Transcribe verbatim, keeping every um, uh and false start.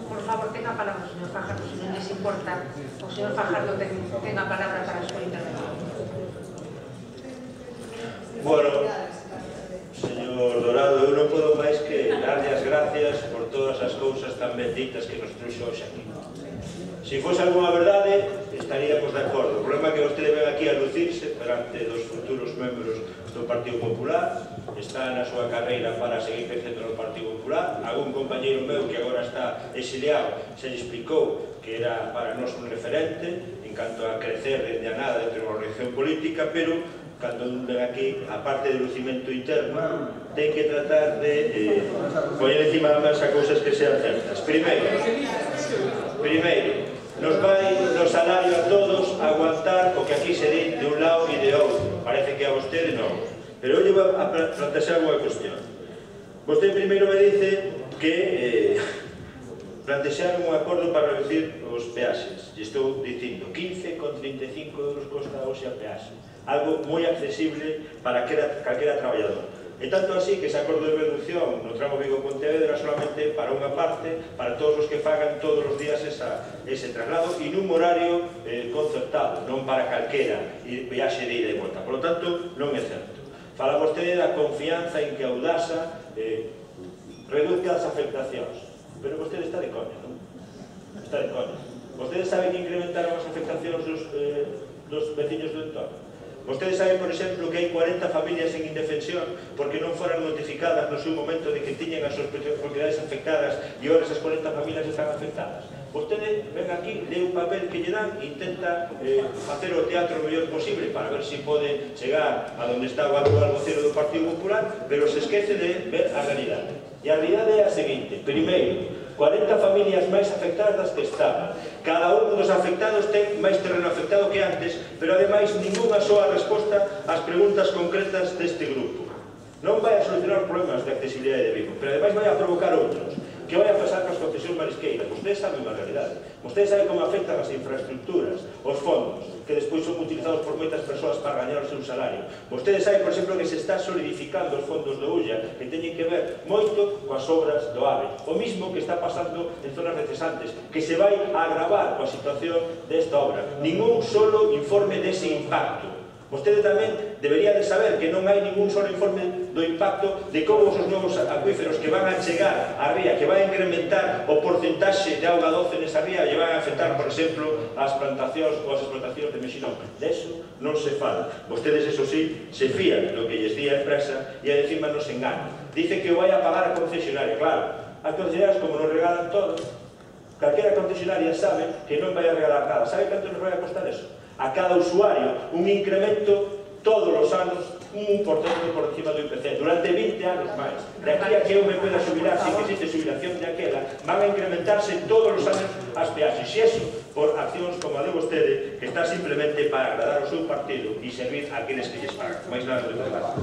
Por favor, tenga palabra, señor Fajardo, si non les importa. O señor Fajardo tenga palabra para a súa intervención. Bueno, señor Dorado, eu non podo máis que darlle as gracias por todas as cousas tan benditas que nos trouxe hoxe aquí. Se fose alguna verdade, estaríamos de acordo. O problema é que vostede ven aquí a lucirse perante dos futuros membros do Partido Popular, está na súa carreira para seguir crecendo no Partido Popular. Algún compañeiro meu que agora está exiliado se lle explicou que era para nós un referente en canto a crecer dende a nada dentro da organización política, pero cando un ven aquí, a parte de lucimento interno, ten que tratar de eh, poñer encima da mesa cousas que sean certas. Primeiro, primeiro, nos vai no salario a todos aguantar o que aquí se di de un lado e de outro. Parece que a vostede non. Pero eu vou a plantear unha cuestión. Vostede primeiro me dice que eh, plantexaron un acordo para reducir os peaxes. E estou dicindo quince con trinta e cinco euros costa hoxe a peaxe. Algo moi accesible para calquera traballador. E tanto así que ese acordo de reducción no tramo Vigo-Pontevedra solamente para unha parte, para todos os que fagan todos os días esa, ese traslado e nun horario eh, concertado, non para calquera viaxe de ida e volta. Por lo tanto, non é certo. Fala vostede da confianza en que a Audasa eh, reduzca as afectacións. Pero vostede está de coña, non? Está de coña. Vostede sabe que incrementaron as afectacións dos, eh, dos veciños do entorno? Vostede sabe, por exemplo, que hai cuarenta familias en indefensión porque non foran notificadas no seu momento de que tiñen as súas propiedades afectadas e ahora esas cuarenta familias están afectadas. Vostede ven aquí, lee un papel que lle dan e intenta eh, facer o teatro o mellor posible para ver se si pode chegar a donde está o actual vocero do Partido Popular, pero se esquece de ver a realidade. E a realidade é a seguinte: primeiro, cuarenta familias máis afectadas das que estaban. Cada un dos afectados ten máis terreno afectado que antes, pero ademais ninguna soa resposta ás preguntas concretas deste grupo. Non vai a solucionar os problemas de accesibilidade de Vigo, pero ademais vai a provocar outros. Que vai a pasar coas concesións marisqueiras? Vostedes saben a realidade. Vostedes saben como afectan as infraestructuras, os fondos, que despois son utilizados por moitas persoas para gañar o seu salario. Vostedes saben, por exemplo, que se está solidificando os fondos do U L A, que teñen que ver moito coas obras do AVE. O mismo que está pasando en zonas recesantes, que se vai a agravar coa situación desta obra. Ningún solo informe dese impacto. Vostede tamén debería de saber que non hai ningún solo informe do impacto de como os novos acuíferos que van a chegar á ría, que van a incrementar o porcentaxe de auga doce nesa ría e van a afectar, por exemplo, as plantacións ou as explotacións de mexilón. De eso non se fala. Vostedes, eso sí, se fían do que lles di a empresa e a encima nos enganan. Dice que o vai a pagar a concesionaria. Claro, as concesionarias, como nos regalan todo, calquera concesionaria sabe que non vai a regalar nada. Sabe canto nos vai a costar eso? A cada usuario un incremento todos os anos un un por cento por encima do I P C durante vinte anos máis. De aquí a que eu me pueda jubilar sin que existe jubilación de aquela, van a incrementarse todos os anos as peaxes. E iso por accións como a de vostede, que está simplemente para agradar o seu partido e servir a aqueles que lles pagan. Mais nada de verdade.